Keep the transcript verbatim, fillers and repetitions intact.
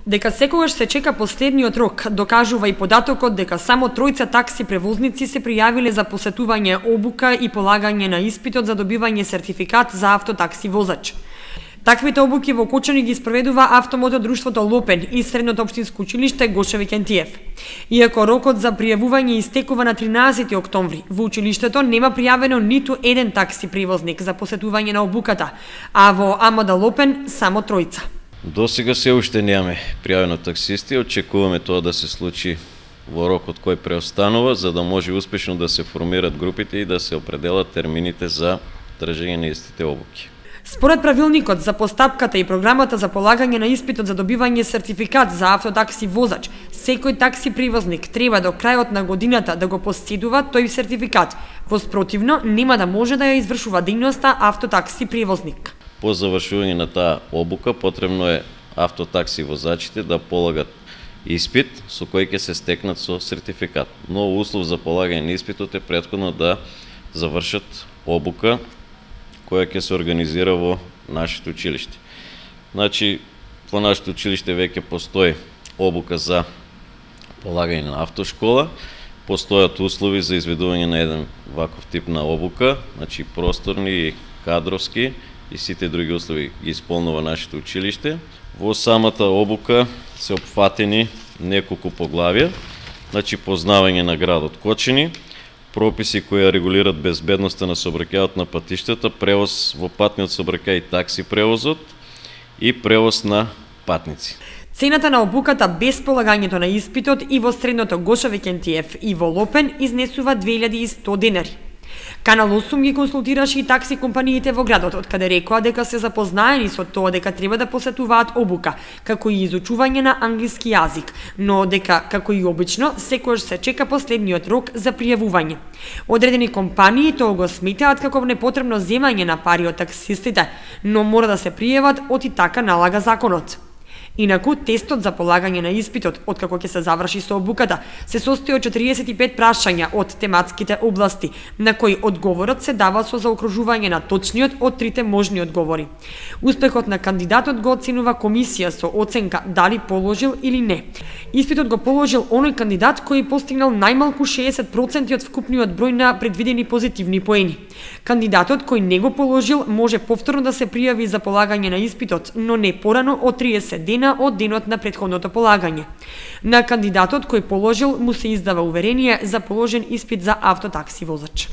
Дека секогаш се чека последниот рок, докажува и податокот дека само тројца такси превозници се пријавиле за посетување обука и полагање на испитот за добивање сертификат за автотакси возач. Таквите обуки во Кочани ги спроведува автомото друштвото Лопен и Средното општинско училиште Гоше Викентиев. Иако рокот за пријавување истекува на тринаесети октомври, во училиштето нема пријавено ниту еден такси превозник за посетување на обуката, а во АМД Лопен само тројца. До сега се уште немаме пријавено таксисти, очекуваме тоа да се случи во рокот кој преостанува, за да може успешно да се формират групите и да се определат термините за тржење на истите обуки. Според правилникот за постапката и програмата за полагање на испитот за добивање сертификат за автотакси возач, секој такси превозник треба до крајот на годината да го поседува тој сертификат. Во спротивно, нема да може да ја извршува дејноста автотакси превозник. По завршување на таа обука потребно е автотакси возачите да полагат испит со кој ќе се стекнат со сертификат. Но услов за полагање на испитот е претходно да завршат обука која ќе се организира во нашето училиште. Значи, во нашето училиште веќе постои обука за полагање на автошкола, постојат услови за изведување на еден ваков тип на обука, значи просторни и кадровски, и сите други услови ги исполнува нашето училиште. Во самата обука се опфатени неколку поглавја, значи познавање на градот Кочани, прописи кои регулират безбедноста на сообраќајот на патиштата, превоз во патниот сообраќај и такси превозот и превоз на патници. Цената на обуката без полагањето на испитот и во Средното Гоше Викентиев и во Лопен изнесува две илјади и сто денари. Канал осум ги консултираше и такси компаниите во градот, од каде рекоа дека се запознаени со тоа дека треба да посетуваат обука, како и изучување на англиски јазик, но дека, како и обично, секогаш се чека последниот рок за пријавување. Одредени компании тоа го сметаат како непотребно земање на пари од таксистите, но мора да се пријават, од и така налага законот. Инаку, тестот за полагање на испитот, откако ќе се заврши со обуката, се состои од четириесет и пет прашања од тематските области, на кои одговорот се дава со заокружување на точниот од трите можни одговори. Успехот на кандидатот го оценува комисија со оценка дали положил или не. Испитот го положил оној кандидат кој постигнал најмалку шеесет проценти од вкупниот број на предвидени позитивни поени. Кандидатот кој не го положил може повторно да се пријави за полагање на испитот, но не порано од триесет дена од денот на претходното полагање. На кандидатот кој положил му се издава уверение за положен испит за автотакси возач.